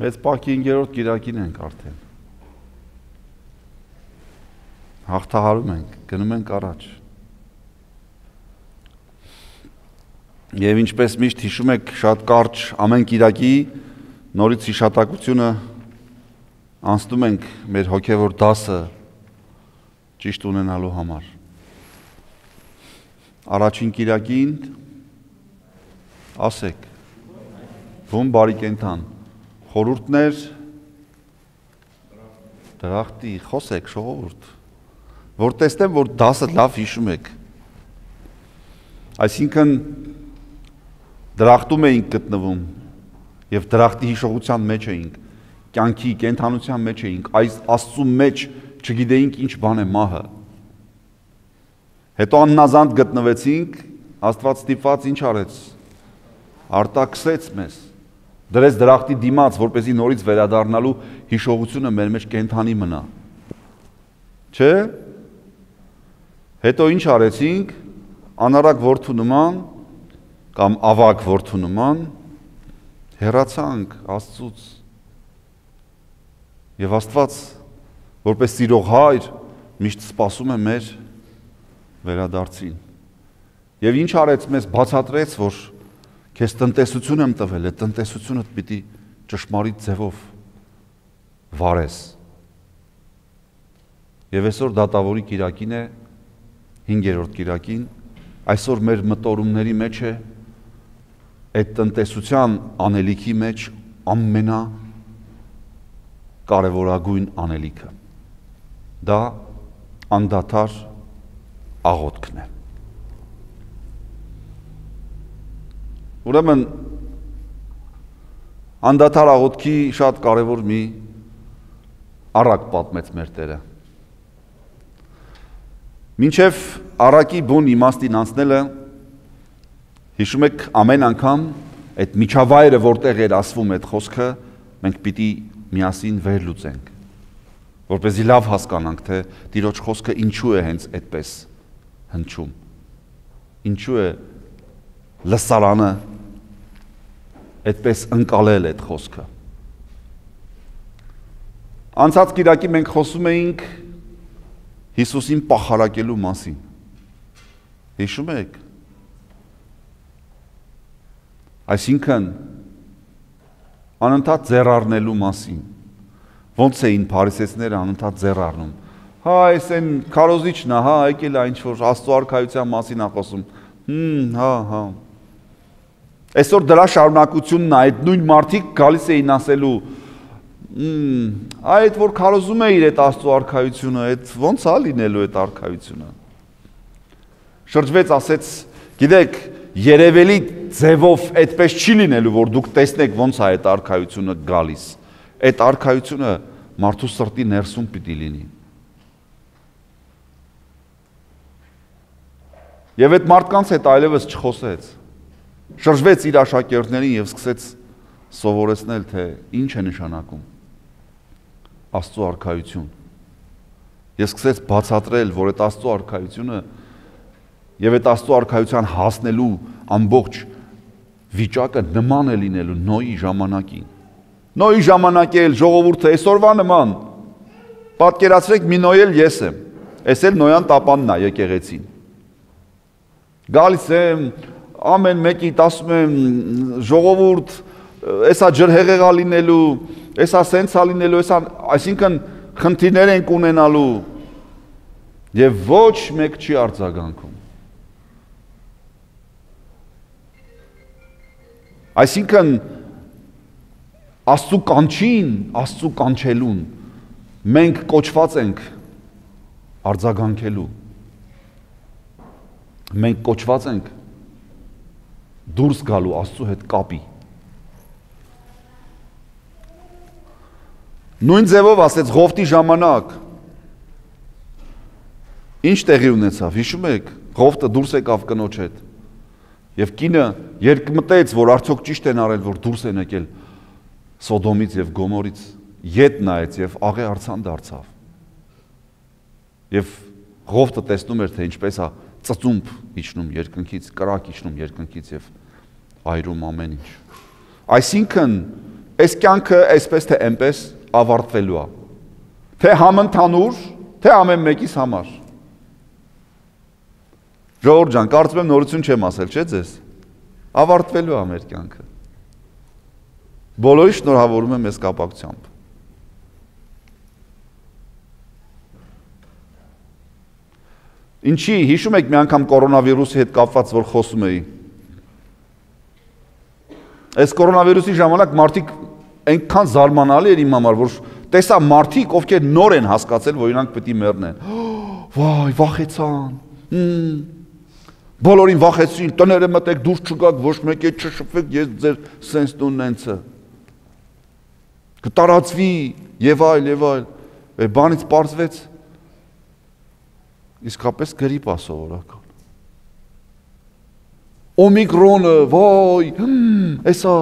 Մեծ պակի 5-րդ կիրակին ենք արդեն։ Հաղթահարում ենք, գնում ենք առաջ։ Եվ ինչպես միշտ հիշում եք շատ կարճ ամեն կիրակի նորից հիշատակությունը անցնում ենք մեր հոգևոր դասը ճիշտ ունենալու համար։ Առաջին կիրակին ասեք, ում բարի կենդան, խորհուրդներ, դրախտի, խոսեք, ժողովուրդ, որ տեսնեմ, որ դասը լավ հիշում եք։ Այսինքն դրախտում էինք գտնվում և դրախտի հիշողության մեջ էինք, կյանքի, կենդանության մեջ էինք, այս Աստծու մեջ չգիտեինք ինչ բան է մահը։ Հետո աննազանդ գտնվեցինք, Աստված ստիպված ինչ արեց, արտաքսեց մեզ, դրեց դրախտի դիմաց, որպեսզի նորից վերադառնալու հիշողությունը մեր մեջ կենդանի մնա։ Չէ՞։ Հետո ինչ արեցինք, անարակ որդու նման կամ ավագ որդու նման հեռացանք Աստծուց։ Եվ Աստված, որպես սիրող հայր, միշտ սպասում է մեր վերադարձին։ Եվ ինչ արեց մեզ բացատրեց, որ քեզ տնտեսություն եմ տվել, այդ տնտեսությունդ պիտի ճշմարիտ ձևով վարես։ Եվ այսօր դատավորի կիրակին է, 5-րդ կիրակին, այսօր մեր մտորումների մեջ է այդ տնտեսության անելիքի մեջ կարևորագույն անելիքը։ Դա անդադար աղոթքն է։ Ուրեմն անդադար աղոթքի շատ կարևոր մի առակ պատմեց մեր Տերը։ Մինչև առակի բուն իմաստին անցնելը, հիշում եք ամեն անգամ այդ միջավայրը, որտեղ էր ասվում այդ խոսքը, մենք պիտի միասին վերլուծենք, որպեսզի լավ հասկանանք, թե Տիրոջ խոսքը ինչու է հենց այդպես հնչում, ինչու է լսարանը այդպես ընկալել այդ խոսքը։ Անցած կիրակի մենք խոսում էինք Հիսուսին պախարակելու մասին։ Հիշում եք։ Այսինքն անընդհատ ձեռառնելու մասին։ Ոնց էին փարիսեցիները անընդհատ ձեռառնում։ Հա, այս այն քարոզիչն է, հա, եկել է ինչ-որ Աստծո արքայության մասին է խոսում։ Հա։ Այսօր դրա շարունակությունն է, այդ նույն մարդիկ գալիս էին ասելու, այդ որ քարոզում է իր այդ Աստծո արքայությունը, այդ ոնց է լինելու այդ արքայությունը։ Շրջվեց, ասեց, գիտեք, երևելի ձևով այդպես չի լինելու, որ դուք տեսնեք ոնց է այդ արքայությունը գալիս։ Այդ արքայությունը մարդու սրտի ներսում պիտի լինի։ Եվ այդ մարդկանց հետ այլևս չխոսեց։ Շրջվեց իր աշակերտներին և սկսեց սովորեցնել, թե ինչ է նշանակում Աստծո արքայություն։ Եվ սկսեց բացատրել, որ այդ Աստծո արքայությունը և այդ Աստծո արքայության հասնելու ամբողջ վիճակը նման է լինելու Նոյի ժամանակին։ Նոյի ժամանակի էլ ժողովուրդը այսօրվա նման, պատկերացրեք մի Նոյ էլ ես եմ, այս էլ Նոյան տապանն է եկեղեցին։ Գալիս եմ, ամեն մեկիդ ասում եմ, ժողովուրդ, էսա ջրհեղեղա լինելու, էսա սենցա լինելու, այսինքն խնդիրներ ենք ունենալու և ոչ մեկ չի արձագանքում։ Այսինքն Աստծու կանչին, Աստծու կանչելուն մենք կոչված ենք արձագանքելու։ Մենք կոչված ենք դուրս գալու Աստծու հետ կապի։ Նույն ձևով ասեց Ղովտի ժամանակ ինչ տեղի ունեցավ, հիշում եք, Ղովտը դուրս եկավ կնոջ հետ և կինը երկմտեց, որ արդյոք ճիշտ են արել, որ դուրս են եկել Սոդոմից և Գոմորից, ետ նայեց և աղե արձան դարձավ։ Եվ Ղովտը տեսնում էր, թե ինչպես է ծծումբ իջնում երկնքից, կրակ իջնում երկնքից և այրում ամեն ինչ։ Այսինքն այս կյանքը այսպես թե այնպես ավարտվելու է։ Թե համընդհանուր, թե ամեն մեկիս համար։ Ժողովուրդ ջան, կարծում եմ նորություն չեմ ասել, չէ՞ ձեզ։ Ավարտվելու է մեր կյանքը։ Բոլորի շնորհավորում եմ այս կապակցությամբ։ Ինչի, հիշում եք մի անգամ կորոնավիրուսի հետ կապված, որ խոսում էի։ Այս կորոնավիրուսի ժամանակ մարդիկ այնքան զարմանալի էր իմ համար, որ տեսա մարդիկ, ովքեր նոր են հասկացել, որ իրանք պետք է մեռնեն։ Վայ, վախեցան։ Բոլորին վախեցրին, տները մտեք, դուրս չգաք, ոչ մեկի չշփվեք, ես ձեր սենսն ունենցը։ Կտարածվի եւ այլ։ Բանից պարզվեց իսկապես գրիպ է սովորական։ Օմիկրոնը, վայ, էսա,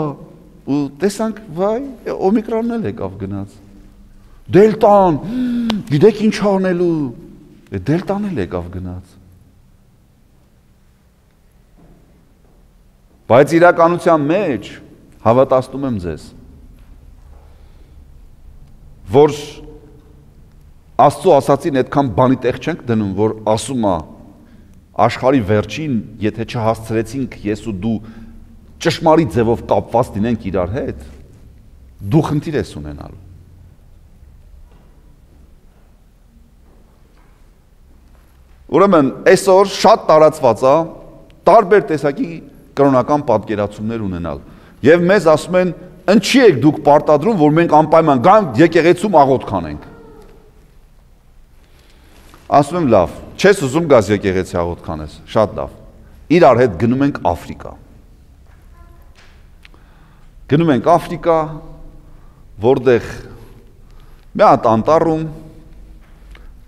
ու տեսանք, վայ, օմիկրոնն էլ եկավ գնաց։ Դելտան, գիտեք ինչ անելու, դելտան էլ եկավ գնաց։ Բայց իրականության մեջ հավատացնում եմ ձեզ, որ Աստծո ասացին այդքան բանի տեղ չենք դնում, որ ասում է աշխարհի վերջին, եթե չհասցրեցինք ես ու դու ճշմարիտ ձևով կապված լինենք իրար հետ, դու խնդիր ես ունենալու։ Ուրեմն այսօր շատ տարածված է տարբեր տեսակի կրոնական պատկերացումներ ունենալ։ Եվ մեզ ասում են, ինչի եք դուք պարտադրում, որ մենք անպայման գանք եկեղեցում աղոթք անենք։ Ասում եմ լավ, չես ուզում գազ եկեղեցի աղոթք անես, շատ լավ։ Իրար հետ գնում ենք Աֆրիկա։ Գնում ենք Աֆրիկա, որտեղ մի հատ անտառում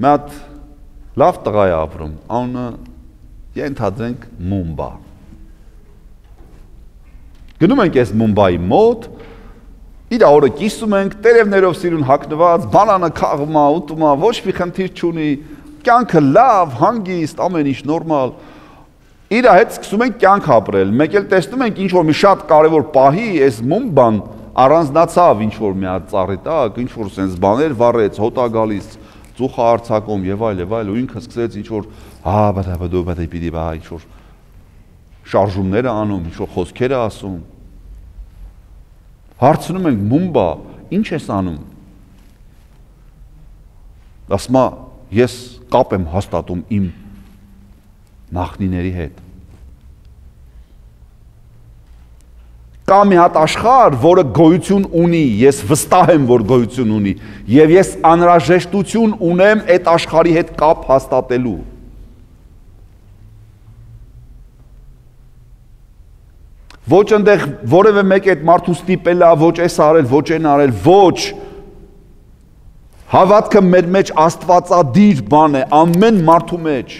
մի հատ լավ տղա է ապրում, անունը ենթադրենք Մումբա։ Գնում ենք այս Մումբայի մոտ, իր օրը կիսում ենք, տերևներով սիրուն հագնված, բանանը քաղում է, ուտում է, ոչ մի խնդիր չունի, կյանքը լավ, հանգիստ, ամեն ինչ նորմալ։ Իր հետ սկսում ենք կյանք ապրել, մեկ էլ տեսնում ենք ինչ որ մի շատ կարևոր պահի, այս Մումբան առանձնացավ ինչ որ մի հատ ծառի տակ, ինչ որ sense բաներ վառեց, հոտ է գալիս, ծուխ արձակում եւ այլ, ու ինքը սկսեց ինչ որ ինչ որ շարժումները անում, ինչ որ խոսքեր է ասում։ Հարցնում ենք Մումբա, ինչ ես անում։ Ասում է, ես կապ եմ հաստատում իմ նախնիների հետ։ Կա մի հատ աշխարհ, որը գոյություն ունի, ես վստահ եմ, որ գոյություն ունի, եւ ես անհրաժեշտություն ունեմ այդ աշխարհի հետ կապ հաստատելու։ Ոչ այնտեղ որևէ մեկ այդ մարդու ստիպել է, ոչ էս արել, ոչ այն արել, ոչ։ Հավատքը մեր մեջ աստվածադիր բան է, ամեն մարդու մեջ։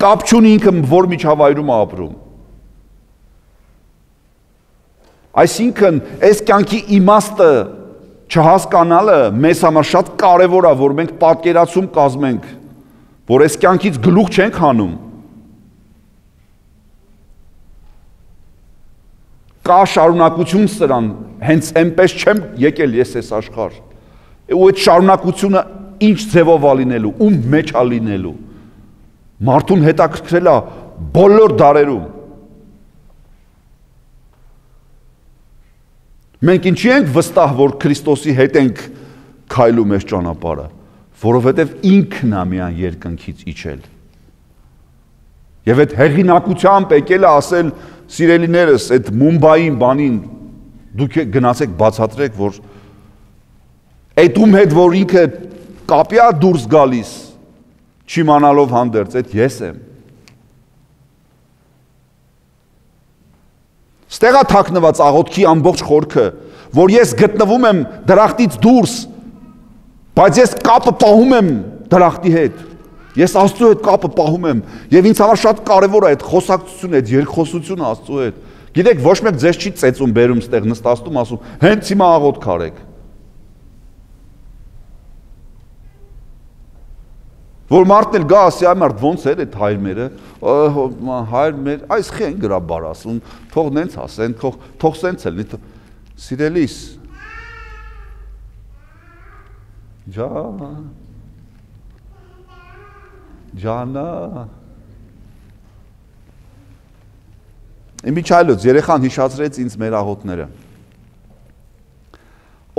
Կապ չունի ինքը որ միջավայրում է ապրում։ Այսինքն, այս կյանքի իմաստը չհասկանալը մեզ համար շատ կարևոր է, որ մենք պատկերացում կազմենք, որ այս կյանքից գլուխ չենք հանում։ Կա շարունակություն սրան, հենց այնպես չեմ եկել ես այս աշխարհ։ Ու այդ շարունակությունը ինչ ձևով է լինելու, ում մեջ է լինելու։ Մարդուն հետաքրքրել է բոլոր դարերում։ Մենք ինչի ենք վստահ, որ Քրիստոսի հետ ենք քայլում այս ճանապարհը, որովհետև ինքն է միան երկնքից իջել։ Եվ այդ հեղինակությամբ եկել է ասել, սիրելիներս, այդ Մումբային բանին դուք գնացեք բացատրեք, որ այդ ում հետ, որ ինքը կապի է դուրս գալիս, չիմանալով հանդերձ, այդ ես եմ։ Ստեղ է թաքնված աղոթքի ամբողջ խորքը, որ ես գտնվում եմ դրախտից դուրս, բայց ես կապը պահում եմ դրախտի հետ։ Ես Աստծո հետ կապը պահում եմ, եւ ինձ համար շատ կարևոր է այդ խոսակցությունը, այդ երկխոսությունը Աստծո հետ։ Գիտեք, ոչ մեկ ձեզ չի ծեծում, բերում ստեղ նստաստում, ասում, հենց հիմա աղոթք արեք։ Որ մարդն էլ գա ասի, այ մարդ ոնց էր այդ հայր մերը, հայր մեր, այս խի են գրաբար ասում, թող նենց ասեն, թող սենց էլ, սիրելիս, ջանա, Իմիջայլոց, երեխան հիշացրեց ինձ մեր աղոտները,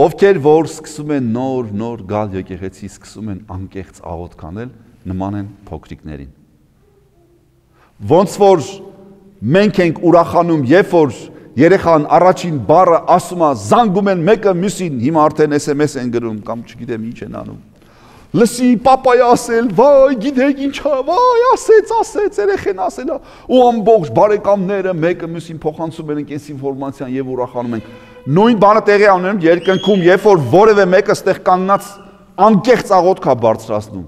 ովքեր որ սկսում են նոր գալ եկեղեցի, սկսում են անկեղծ աղոտ կանել, նման են փոքրիկներին։ Ոնց որ մենք ենք ուրախանում, երբ որ երեխան առաջին բառը ասում է, զանգում են մեկը մյուսին, հիմա արդեն SMS են գրում, կամ չգիտեմ ինչ են անում։ Լսի, պապայ ասել, վայ, գիտեք ինչա, վայ, ասեց, երեխեն ասել, ու ամբողջ բարեկամները մեկը մյուսին փոխանցում են այս ինֆորմացիան եւ ուրախանում են։ Նույն բանը տեղի ունենում երկնքում, երբ որ որևէ մեկը ստեղ կանգնած անկեղծ աղոթք է բարձրացնում։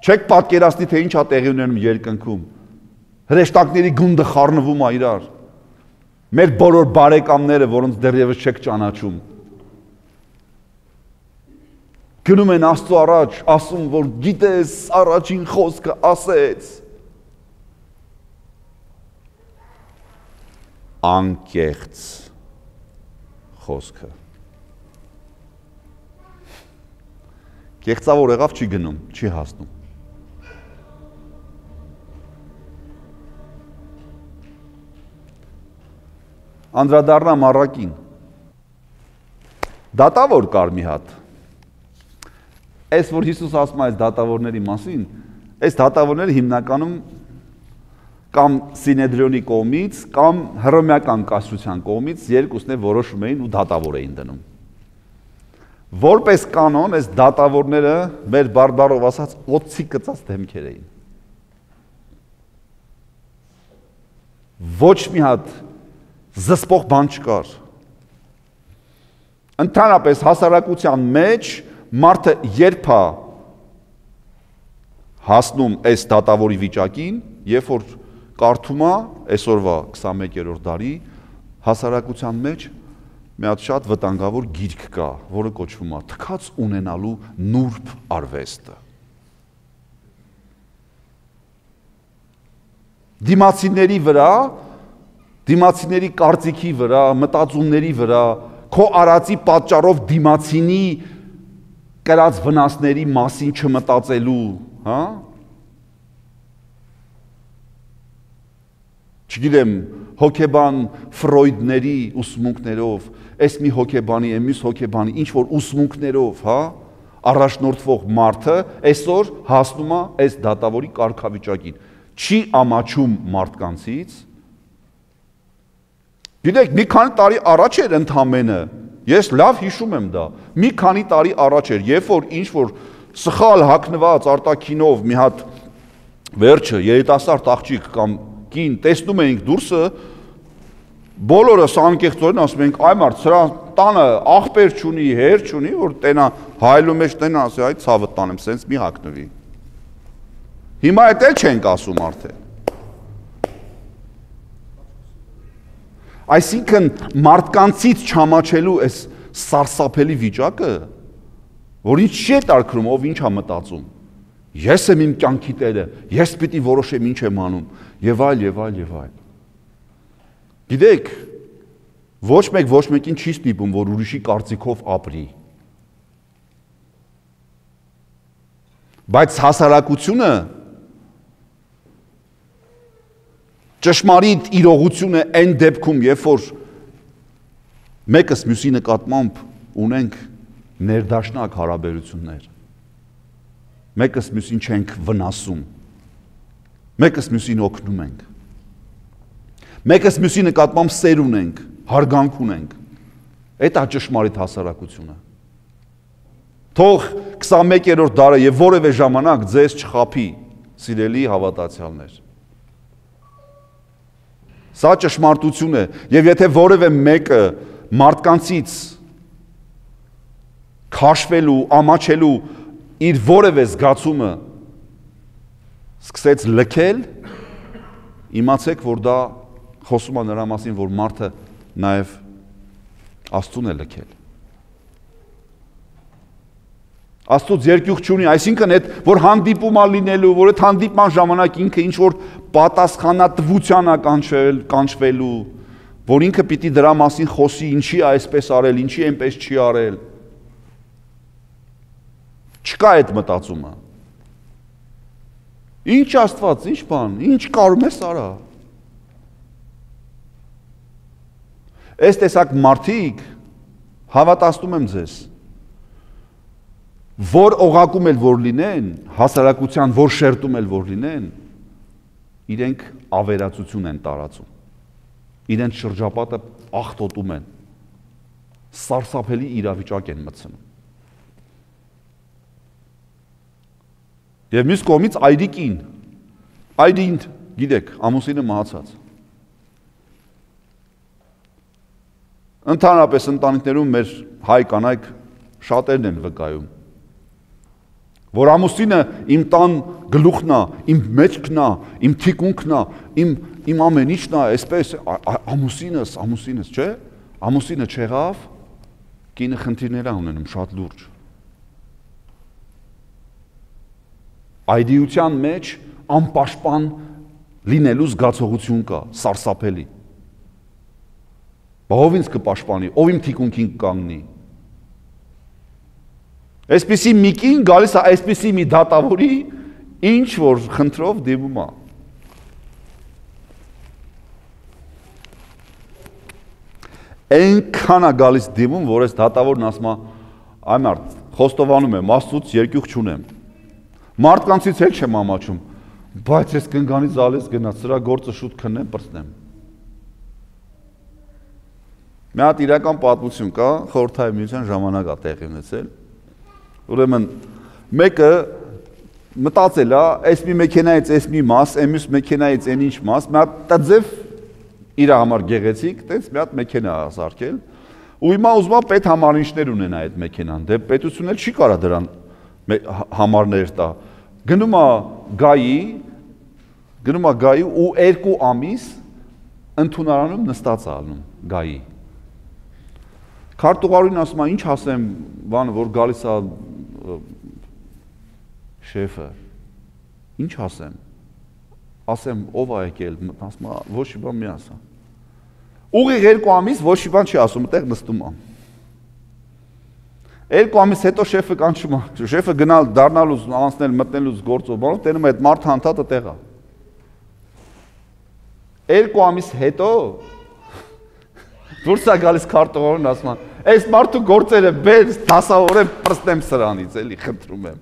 Չեք պատկերացնի, թե ինչ է տեղի ունենում երկնքում։ Հրեշտակների գունդը խառնվում է իրար։ Մեր բոլոր բարեկամները, որոնց դեռևս չեք ճանաչում, գնում են Աստծո առաջ, ասում, որ գիտես, առաջին խոսքը ասեց։ Անկեղծ խոսքը։ Կեղծավոր եղավ չի գնում, չի հասնում։ Անդրադառնամ առակին։ Դատավոր կար մի հատ։ Այս որ Հիսուս ասում է այս դատավորների մասին, այս դատավորները հիմնականում կամ Սինեդրիոնի կողմից, կամ հռոմեական կայսրության կողմից երկուսն է որոշում էին ու դատավոր էին դնում։ Որպես կանոն, այս դատավորները մեր բարբառով ասած օծի կծած դեմքեր էին։ Ոչ մի հատ զսպող բան չկար։ Ընդհանրապես հասարակության մեջ մարդը երբ է հասնում այս դատավորի վիճակին, երբ որ կարդում է այսօրվա 21-րդ դարի հասարակության մեջ մի հատ շատ վտանգավոր գիրք կա, որը կոչվում է թքած ունենալու նուրբ արվեստը։ Դիմացիների վրա, դիմացիների կարծիքի վրա, մտածումների վրա, քո արածի պատճառով դիմացինի կրած վնասների մասին չմտածելու, հա? Չգիտեմ, հոգեբան Ֆրոյդների ուսմունքներով, այս մի հոգեբանի, մյուս հոգեբանի, ինչ որ ուսմունքներով, հա, առաջնորդվող մարդը այսօր հասնում է այս դատավորի կարգավիճակին։ Չի ամաչում մարդկանցից։ Գիտեք, մի քանի տարի առաջ էր ընդամենը, ես լավ հիշում եմ դա, մի քանի տարի առաջ էր, երբ որ ինչ որ սխալ հագնված արտաքինով մի հատ վերջը երիտասարդ աղջիկ կամ կին տեսնում էինք դուրսը, բոլորս անկեղծորեն ասում ենք, այ մարդ, սրա տանը աղբեր չունի, հեր չունի, որ տենա հայլու մեջ տենա, ասի, այ ցավը տանեմ, սենց մի հագնվի։ Հիմա էդ էլ չենք ասում արդեն։ Այսինքն մարդկանցից չամաչելու այս սարսափելի վիճակը, որ ինչ չի տարկրում, ով ինչ է մտածում։ Ես եմ իմ կյանքի տերը, ես պիտի որոշեմ ինչ եմ անում, եւ այլ, եւ այլ, եւ այլ։ Գիտեք, ոչ մեկին չի ստիպում, որ ուրիշի կարծիքով ապրի։ Բայց հասարակությունը ճշմարիտ իրողությունը այն դեպքում, երբ որ մեկս մյուսի նկատմամբ ունենք ներդաշնակ հարաբերություններ, մեկս մյուսին չենք վնասում, մեկս մյուսին օգնում ենք, մեկս մյուսի նկատմամբ սեր ունենք, հարգանք ունենք, այդ է ճշմարիտ հասարակությունը։ Թող 21-րդ դարը եւ որևէ ժամանակ ձեզ չխաբի, սիրելի հավատացյալներ։ Սա ճշմարտություն է, եւ եթե որևէ մեկը մարդկանցից քաշվելու, ամաչելու իր որևէ զգացումը սկսեց լքել, իմացեք, որ դա խոսում է նրա մասին, որ մարդը նաեւ Աստծուն է լքել։ Աստծուց երկյուղ չունի, այսինքն այդ որ հանդիպում ա լինելու, որ այդ հանդիպման ժամանակ ինքը ինչ որ պատասխանատվության ա կանչվելու, որ ինքը պիտի դրա մասին խոսի, ինչի է այսպես արել, ինչի այնպես չի արել։ Չկա այդ մտածումը։ Ինչ Աստված, ինչ բան, ինչ կարում ես արա։ Այս տեսակ մարդիկ հավատացնում եմ ձեզ, որ օղակում էլ որ լինեն, հասարակության որ շերտում էլ որ լինեն, իրենք ավերածություն են տարածում, իրենց շրջապատը աղտոտում են, սարսափելի իրավիճակ են մտցնում։ Եվ մյուս կողմից այրիկին, գիտեք, ամուսինը մահացած։ Ընդհանրապես ընտանիքներում մեր հայ կանայք շատերն են վկայում, որ ամուսինը իմ տան գլուխն է, իմ մեջքն է, իմ թիկունքն է, իմ ամեն ինչն է, այսպես ամուսինս, չէ՞, ամուսինը չեղավ, կինը խնդիրներ է ունենում շատ լուրջ։ Այդիության մեջ անպաշտպան լինելու զգացողություն կա, սարսափելի։ Ով ինձ կպաշտպանի, ով իմ թիկունքին կանգնի։ Այսպիսի մի կին գալիս է այսպիսի մի դատավորի, ինչ որ խնդրով դիմում է։ Այնքան է գալիս դիմում, որ այս դատավորն ասում է, այ մարդ, խոստովանում եմ, Աստծուց երկյուղ չունեմ։ Մարդկանցից էլ չեմ ամաչում, բայց ես կնգանից ալես գնաց, սրա գործը շուտ քննեմ, պրծնեմ։ Մի հատ իրական պատմություն կա, խորհրդային միության ժամանակ է տեղի ունեցել։ Ուրեմն մեկը մտածել է, այս մի մեքենայից այս մի մաս, այս մեքենայից այն ինչ մաս, մի հատ տձև իր համար գեղեցիկ, տենց մի հատ մեքենա է սարքել, ու հիմա ուզում է պետհամարինչներ ունենա այդ մեքենան, դե պետությունն էլ չի կարա դրան համարներ տա։ Գնում է գայի ու 2 ամիս ընդունարանում նստած է ալնում գայի։ Քարտուղարին ասում է, ինչ ասեմ, բանը, որ գալիս է շեֆը, ինչ ասեմ, ով է եկել, ասում է, ոչ մի բան մի ասա։ Ուղիղ 2 ամիս ոչ մի բան չի ասում, այդտեղ նստում է։ 2 ամիս հետո շեֆը կանչում է, շեֆը գնալ, դառնալուց, անցնել, մտնելուց գործով, բանով, տենում է այդ մարդ հանդատը տեղ է։ 2 ամիս հետո դուրս է գալիս քարտուղարին ասում է, այս մարդու գործերը բեր, դասավորեմ, պրծնեմ սրանից, էլի խնդրում եմ։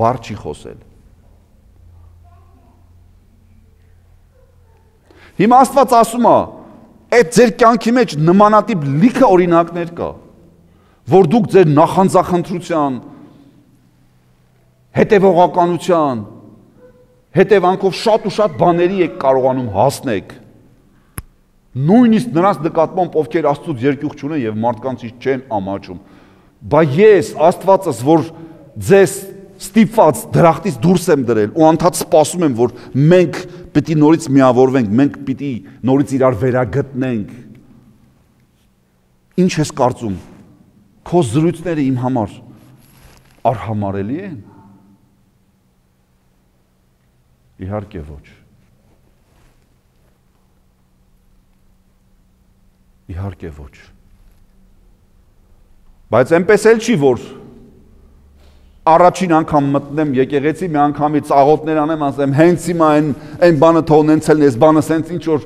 Բառ չի խոսել։ Հիմա Աստված ասում է, այդ ձեր կյանքի մեջ նմանատիպ լիքը օրինակներ կա, որ դուք ձեր նախանձախնդրության, հետևողականության, հետևանքով շատ ու շատ բաների եք կարողանում հասնեք, նույնիսկ նրանց նկատմամբ, ովքեր Աստծուց երկյուղ չունեն եւ մարդկանցից չեն ամաչում, բայց ես Աստվածս, որ ձեզ ստիպված դրախտից դուրս եմ դրել ու անդադ սպասում եմ, որ մենք պիտի նորից միավորվենք, մենք պիտի նորից իրար վերագտնենք, ինչ ես կարծում, քո զրույցները իմ համար արհամարելի են։ Իհարկե ոչ։ Իհարկե ոչ։ Բայց այնպես էլ չի, որ առաջին անգամ մտնեմ եկեղեցի, մի անգամից աղոթներ անեմ, ասեմ, հենց հիմա այն բանը թողնեցել, այս բանը սենց ինչ որ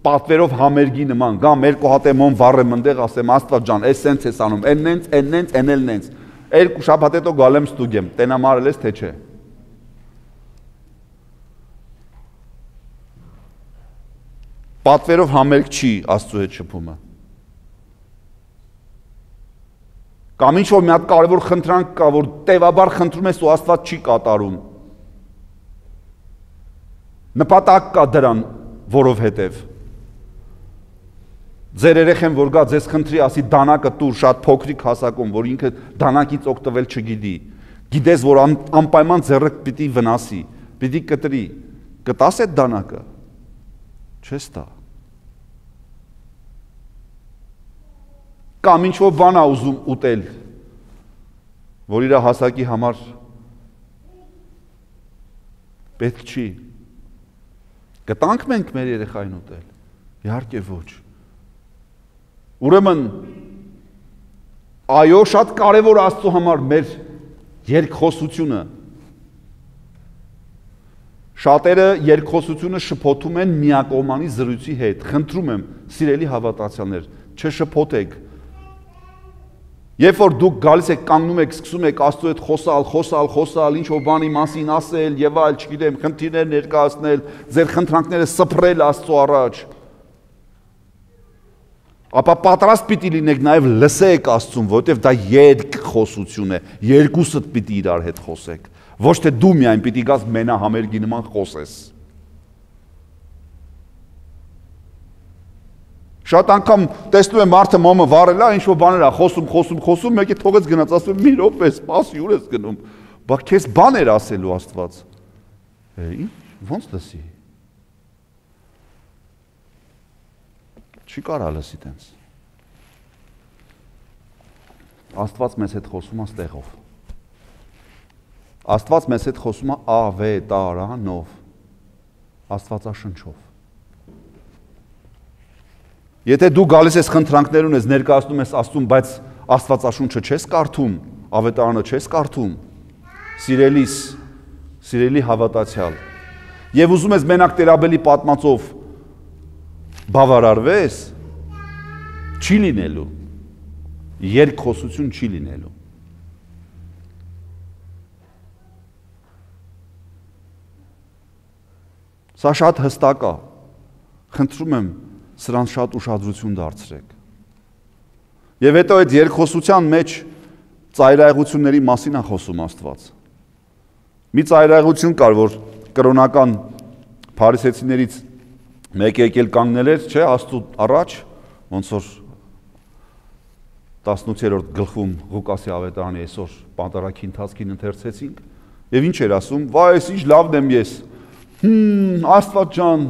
պատվերով համերգի նման, գամ 2 հատ եմ վառեմ ընդեղ, ասեմ, Աստված ջան, այս սենց ես անում, այն էլ նենց, 2 շաբաթ հետո գալ եմ ստուգեմ, տենամ արել ես, թե չէ։ Պատվերով համերգ չի Աստծո հետ շփումը։ Կամ ինչ որ մի հատ կարևոր խնդրանք կա, որ տևաբար խնդրում ես ու Աստված չի կատարում։ Նպատակ կա դրան, որովհետև ձեր երեխեն որ գա ձեզ խնդրի, ասի դանակը տուր շատ փոքրիկ հասակում, որ ինքը դանակից օգտվել չգիտի։ Գիտես, որ անպայման ձեռը պիտի վնասի, պիտի կտրի։ Կտաս այդ դանակը։ Չես տա։ Կամ ինչ որ բան ա ուզում ուտել։ որ իր հասակի համար պետք չի։ Կտանք մենք մեր երեխային ուտել։ Իհարկե ոչ։ Ուրեմն այո, շատ կարևոր Աստծո համար մեր երկխոսությունը։ Շատերը երկխոսությունը շփոթում են միակողմանի զրույցի հետ։ Խնդրում եմ, սիրելի հավատացյալներ, չշփոթեք։ Երբ որ դուք գալիս եք, կանգնում եք, սկսում եք Աստծո հետ խոսալ, ինչ որ բանի մասին ասել եւ այլ, չգիտեմ, խնդիրներ ներկայացնել, ձեր խնդրանքները սփռել Աստծո առաջ, ապա պատրաստ պիտի լինեք նաեւ լսեք Աստծուն, որովհետեւ դա երկխոսություն է, երկուսդ պիտի իրար հետ խոսեք, ոչ թե դու միայն պիտի գաս մենահամերգի նման խոսես։ Շատ անգամ տեսնում եմ մարդը մոմը վառել է, ինչ-որ բաներ է խոսում, մեկի թողեց գնաց, ասում մի րոպե, սպասի, ուր ես գնում։ Բա քեզ բան էր ասելու Աստված։ Ինչ, ոնց լսի։ Չի կարա լսի տենց։ Աստված մեզ հետ խոսում է ստեղով։ Աստված մեզ հետ խոսում է ավետարանով, Աստվածաշնչով։ Եթե դու գալիս ես խնդրանքներ ունես, ներկայացնում ես Աստծուն, բայց Աստվածաշունչը չես կարդում, ավետարանը չես կարդում, սիրելի հավատացյալ, եւ ուզում ես մենակ Տերաբելի պատմածով բավարարվես, չի լինելու, երկխոսություն չի լինելու։ Սա շատ հստակ է, խնդրում եմ, սրան շատ ուշադրություն դարձրեք։ Եվ հետո այդ երկխոսության մեջ ծայրահեղությունների մասին է խոսում Աստված։ Մի ծայրահեղություն կար, որ կրոնական փարիսեցիներից մեկը եկել կանգնել էր, չէ, Աստծո առաջ, ոնց որ 18-րդ գլխում Ղուկասի ավետարանի այսօր պատարագի ընթացքին ընթերցեցինք, եւ ինչ էր ասում, վայ, այս ինչ լավն եմ ես։ Աստված ջան,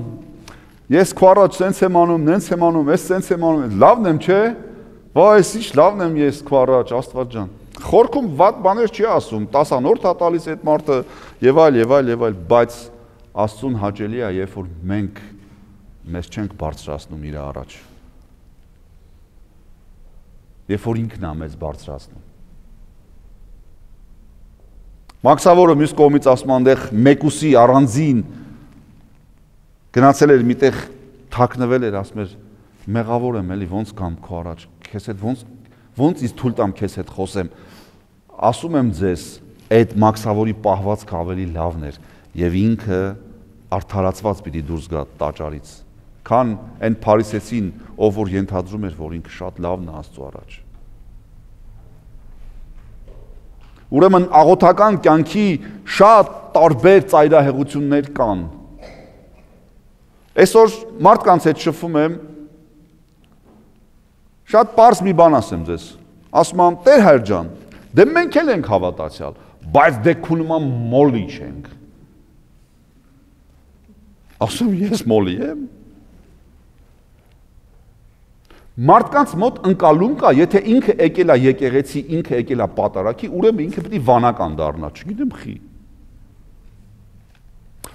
ես քո առաջ սենց եմ անում, նենց եմ անում, ես սենց եմ անում, լավն եմ, չէ։ Վայ, այս ինչ լավն եմ ես քո առաջ, Աստված ջան։ Խորքում վատ բաներ չի ասում, 10-րդ է տալիս այդ մարդը եւ այլ, բայց Աստծուն հաճելի է, երբ որ մենք մեզ չենք բարձրացնում իր առաջ։ Երբ որ ինքն է մեզ բարձրացնում։ Մաքսավորը մյուս կողմից ասում այնտեղ մեկուսի առանձին գնացել էր միտեղ թաքնվել էր, ասում էր մեղավոր եմ էլի, ոնց կամ քո առաջ, քեզ հետ ոնց ինձ թույլ տամ քեզ հետ խոսեմ։ Ասում եմ ձեզ, այդ մաքսավորի պահվածքը ավելի լավն էր եւ ինքը արդարացված պիտի դուրս գա տաճարից, քան այն փարիսեցին, ով որ ենթադրում էր, որ ինքը շատ լավն է Աստծո առաջ։ Ուրեմն աղոթական կյանքի շատ տարբեր ծայրահեղություններ կան։ Այսօր մարդկանց հետ շփվում եմ, շատ պարզ մի բան ասեմ ձեզ, ասում եմ, Տեր Հայր ջան, դե մենք էլ ենք հավատացյալ, բայց դե քո նման մոլի չենք։ Ասում ես մոլի եմ։ Մարդկանց մոտ ընկալում կա, եթե ինքը եկել է եկեղեցի, ինքը եկել է պատարագի, ուրեմն ինքը պետք է վանական դառնա, չգիտեմ խի։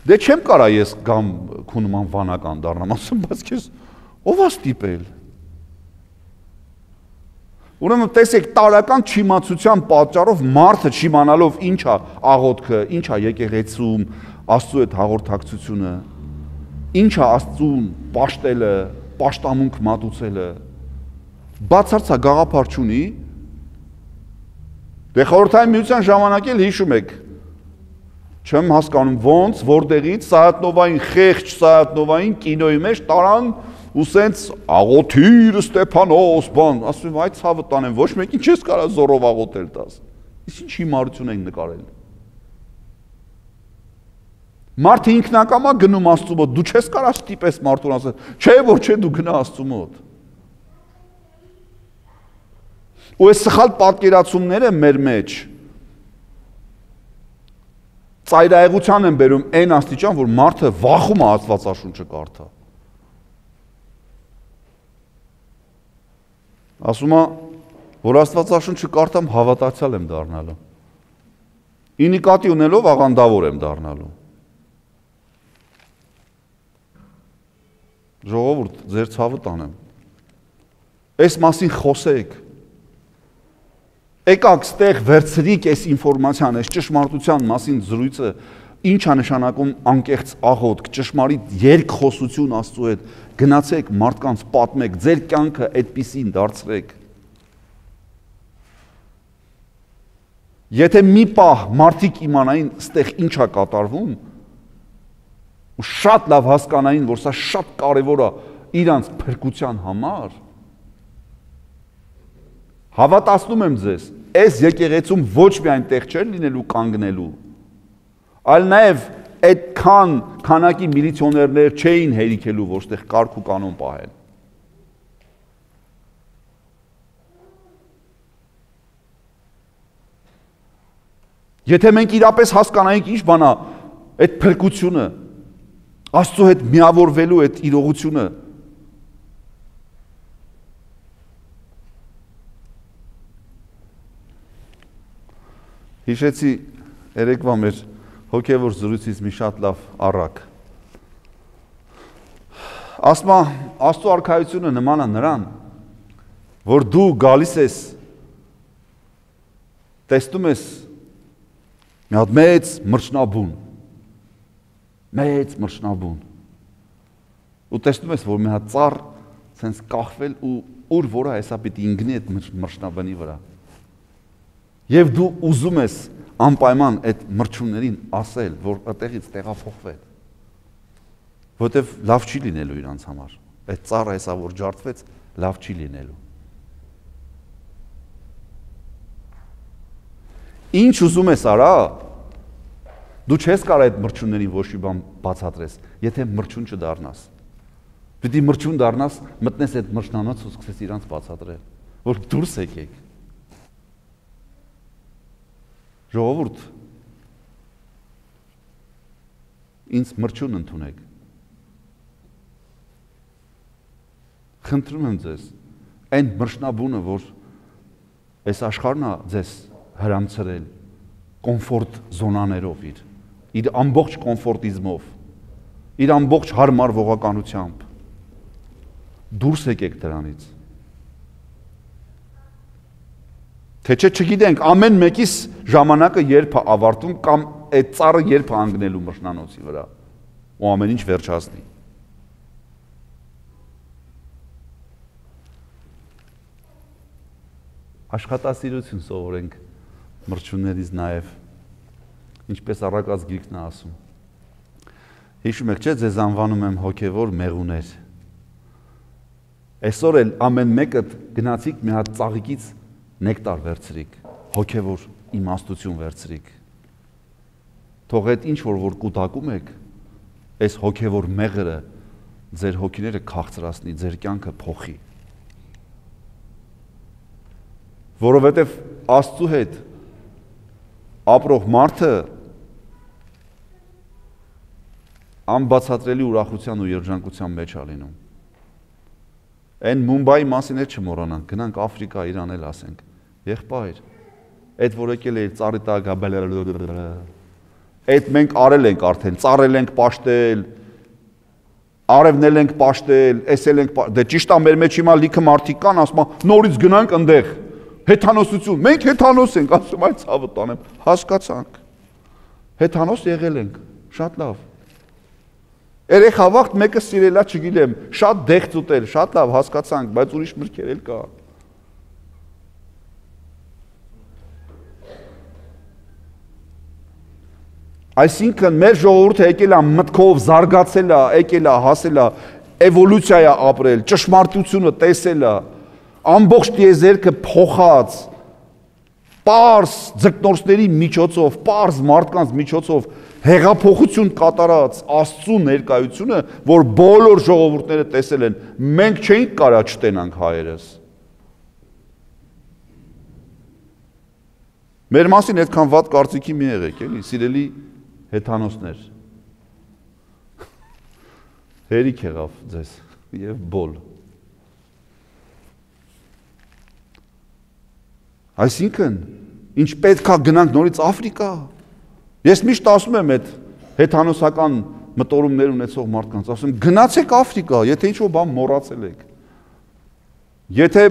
Դե չեմ կարա ես գամ քո նման վանական դառնամ, ասում, բայց քեզ ով է ստիպել։ Ուրեմն տեսեք, տարական չիմացության պատճառով մարդը չիմանալով ինչ է աղոթքը, ինչ է եկեղեցում, Աստծո հետ հաղորդակցությունը, ինչ է Աստծուն պաշտելը, պաշտամունք մատուցելը, բացարձակ գաղափար չունի։ Դե խորհրդային միության ժամանակ էլ հիշում եք, չեմ հասկանում ոնց, որտեղից Սայաթնովային խեղճ Սայաթնովային կինոյի մեջ տարան ու սենց աղոթիր Ստեփանոս բան, ասում եմ, այդ ցավը տանեմ, ոչ մեկին չես կարա զորով աղոթել տաս։ Իսկ ինչ հիմարություն են նկարել։ Մարդը ինքնակամա գնում Աստծու մոտ, դու չես կարա ստիպես մարդուն ասել, չէ, որ չէ, դու գնա Աստծու մոտ։ Ու այս սխալ պատկերացումները մեր մեջ ծայրահեղության են բերում այն աստիճան, որ մարդը վախում է Աստվածաշունչը կարդա։ Ասում է, որ Աստվածաշունչը կարդամ, հավատացյալ եմ դառնալու։ ի նկատի ունելով աղանդավոր եմ դառնալու։ Ժողովուրդ, ձեր ցավը տանեմ։ Այս մասին խոսեք։ Եկաք ստեղ վերցրիք այս ինֆորմացիան, այս ճշմարտության մասին զրույցը, ինչ է նշանակում անկեղծ աղոթք, ճշմարիտ երկխոսություն Աստծու հետ, գնացեք մարդկանց պատմեք, ձեր կյանքը այդպիսին դարձրեք։ Եթե մի պահ մարդիկ իմանային ստեղ ինչ է կատարվում, ու շատ լավ հասկանային, որ սա շատ կարևոր է իրանց փրկության համար, հավատացնում եմ ձեզ, այս եկեղեցում ոչ միայն տեղ չէր լինելու կանգնելու, այլ նաև այդքան քանակի միլիցիոներներ չէին հերիքելու, որ ստեղ կարգ ու կանոն պահեն։ Եթե մենք իրապես հասկանայինք ինչ բան է այդ փրկությունը, Աստծո հետ միավորվելու այդ իրողությունը, հիշեցի երեկվա մեր հոգևոր զրույցից մի շատ լավ առակ։ Ասում է, Աստծո արքայությունը նման է նրան, որ դու գալիս ես, տեսնում ես մի հատ մեծ մրջնաբուն, ու տեսնում ես, որ մի հատ ծառ սենց կախվել ու ուր որը հեսա պիտի ինգնի այդ մրջնաբանի վրա։ Եվ դու ուզում ես անպայման այդ մրջուններին ասել, որ այդտեղից տեղափոխվեն, որտեվ լավ չի լինելու իրանց համար, այդ ծառը հեսա որ ջարդվեց, լավ չի լինելու։ Ինչ ուզում ես արա, դու չես կարող այդ մրջուններին ոչ մի բան բացատրես, եթե մրջուն չդառնաս։ Պիտի մրջուն դառնաս, մտնես այդ մրջնանոց ու սկսես իրանց բացատրել, որ դուրս եկեք։ Ժողովուրդ, ինձ մրջուն ընդունեք։ Խնդրում եմ ձեզ, այն մրջնաբունը, որ այս աշխարհն է ձեզ հրամցրել կոմֆորտ զոնաներով իր ամբողջ կոմֆորտիզմով, իր ամբողջ հարմարվողականությամբ, դուրս եկեք դրանից։ Թե չէ չգիտենք ամեն մեկիս ժամանակը երբ է ավարտում կամ այդ ծառը երբ է անգնելու մրջնանոցի վրա ու ամեն ինչ վերջացնի։ Աշխատասիրություն սովորենք մրջուններից նաև, ինչպես առակած գիրքն է ասում։ Հիշում եք, չէ, ձեզ անվանում եմ հոգևոր մեղուներ։ Այսօր էլ ամեն մեկը գնացիք մի հատ ծաղիկից նեկտար վերցրիք, հոգևոր իմաստություն վերցրիք։ Թող այդ ինչ որ կուտակում եք, այս հոգևոր մեղրը ձեր հոգիները քաղցրացնի, ձեր կյանքը փոխի։ Որովհետև Աստծու հետ ապրող մարդը անբացատրելի ուրախության ու երջանկության մեջ է լինում։ Այն Մումբայի մասին էլ չմոռանանք, գնանք Աֆրիկա, Իրան էլ ասենք, եղբայր, այդ որ եկել է ծառի տակ, այդ մենք արել ենք արդեն, ծառել ենք պաշտել, արևնել ենք պաշտել, էսել ենք, դե ճիշտ է մեր մեջ հիմա լիքը մարդիկ կան, ասում են, նորից գնանք ընդեղ, հեթանոսություն, մենք հեթանոս ենք, ասում այդ ցավը տանեմ, հասկացանք, հեթանոս եղել ենք, շատ լավ, երեխա վաղտ մեկը սիրելա չգիտեմ, շատ դեղց ուտել, շատ լավ հասկացանք, բայց ուրիշ մրգեր էլ կա։ Այսինքն մեր ժողովուրդը եկել է մտքով զարգացել է, եկել է, հասել է, էվոլյուցիա է ապրել, ճշմարտությունը տեսել է, ամբողջ տիեզերքը փոխած, պարզ ձգնորսների միջոցով, պարզ մարդկանց միջոցով հեղափոխություն կատարած Աստծու ներկայությունը, որ բոլոր ժողովուրդները տեսել են, մենք չէինք կարա չտենանք հայերս։ Մեր մասին այդքան վատ կարծիքի մի եղեք, էլի, սիրելի հեթանոսներ։ Հերիք եղավ ձեզ եւ բոլ։ Այսինքն, ինչ պետք է գնանք նորից Աֆրիկա, Ես միշտ ասում եմ այդ հեթանոսական մտորումներ ունեցող մարդկանց, ասում եմ գնացեք Աֆրիկա, եթե ինչ-որ բան մոռացել եք։ Եթե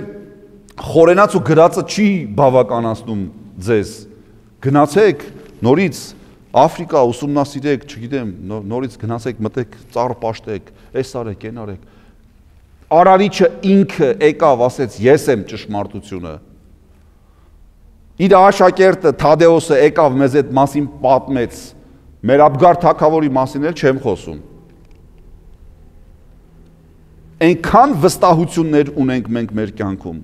խորենաց ու գրածը չի բավականացնում ձեզ, գնացեք նորից Աֆրիկա ուսումնասիրեք, չգիտեմ, նորից գնացեք, մտեք, ծառ պաշտեք, այս արեք, այն արեք։ Արարիչը ինքը եկավ, ասեց, ես եմ ճշմարտությունը։ Իր աշակերտը Թադեոսը եկավ մեզ այդ մասին պատմեց, մեր Աբգար թագավորի մասին էլ չեմ խոսում։ Այնքան վստահություններ ունենք մենք մեր կյանքում,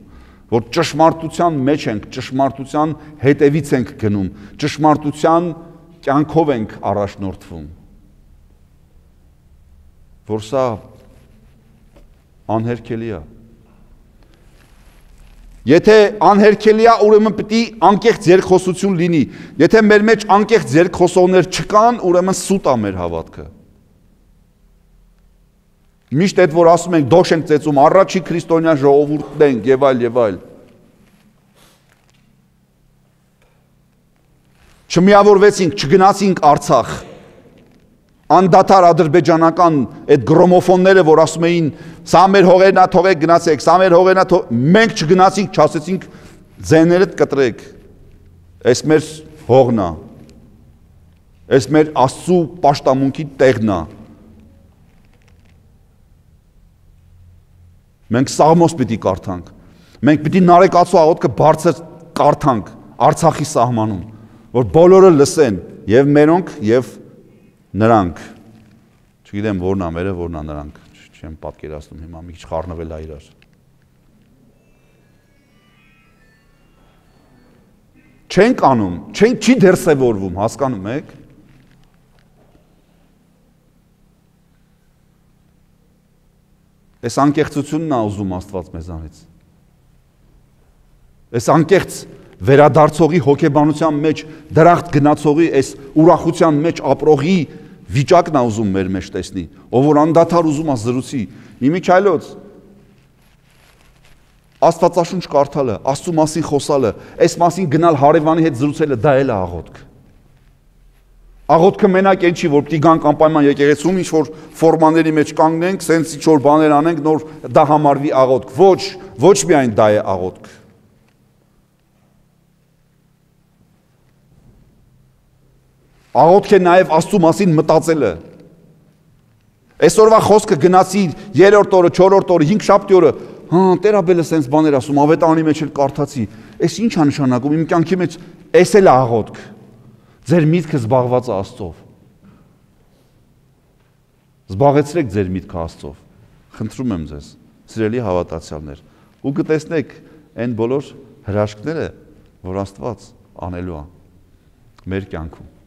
որ ճշմարտության մեջ ենք, ճշմարտության հետևից ենք գնում, ճշմարտության կյանքով ենք առաջնորդվում, որ սա անհերքելի է։ Եթե անհերքելի է, ուրեմն պիտի անկեղծ երկխոսություն լինի։ Եթե մեր մեջ անկեղծ երկխոսողներ չկան, ուրեմն սուտ է մեր հավատքը։ Միշտ այդ որ ասում ենք դոշ ենք ծեծում, առաջի քրիստոնյա ժողովուրդն ենք եւ այլ եւ այլ։ Չմիավորվեցինք, չգնացինք Արցախ։ Անդադար ադրբեջանական այդ գրոմոֆոնները, որ ասում էին, սա մեր հողերն է, թողեք գնացեք, սա մեր հողերն է, մենք չգնացինք, չասեցինք, ձեներդ կտրեք։ Այս մեր հողն է։ Այս մեր Աստծու պաշտամունքի տեղն է։ Մենք Սաղմոս պիտի կարդանք։ Մենք պիտի Նարեկացու աղոթքը բարձր կարդանք Արցախի սահմանում, որ բոլորը լսեն, եւ մերոնք, եւ նրանք, չգիտեմ որն է մերը, որն է նրանք, չեմ պատկերացնում հիմա մի քիչ խառնվել է իրար։ Չենք անում, չի դերսևորվում, հասկանում եք։ Այս անկեղծությունն է ուզում Աստված մեզանից։ Այս անկեղծ վերադարձողի հոգեբանության մեջ դրախտ գնացողի այս ուրախության մեջ ապրողի վիճակն է ուզում մեր մեջ տեսնի, ով որ անդադար ուզում է զրուցի, իմիջայլոց Աստվածաշունչ կարդալը, Աստծու մասին խոսալը, այս մասին գնալ հարևանի հետ զրուցելը, դա էլ է աղոթք։ Աղոթքը մենակ այն չի, որ պիտի գանք անպայման եկեղեցում, ինչ որ ֆորմաների մեջ կանգնենք, սենց ինչ որ բաներ անենք, նոր դա համարվի աղոթք։ Ոչ միայն դա է աղոթք։ Աղոթք է նաև Աստծու մասին մտածելը։ Այսօրվա խոսքը գնացի 3-րդ օրը, 4-րդ օրը, 5-շաբթի օրը, Տերաբելը սենց բաներ ասում, ավետարանի մեջ էլ կարդացի։ Այս ինչ է նշանակում, իմ կյանքի մեջ էս էլ է աղոթք։ Ձեր միտքը զբաղված է Աստծով։ Զբաղեցրեք ձեր միտքը Աստծով։ Խնդրում եմ ձեզ, սիրելի հավատացյալներ, ու կտեսնեք այն բոլոր հրաշքները, որ Աստված անելու է մեր կյանքում։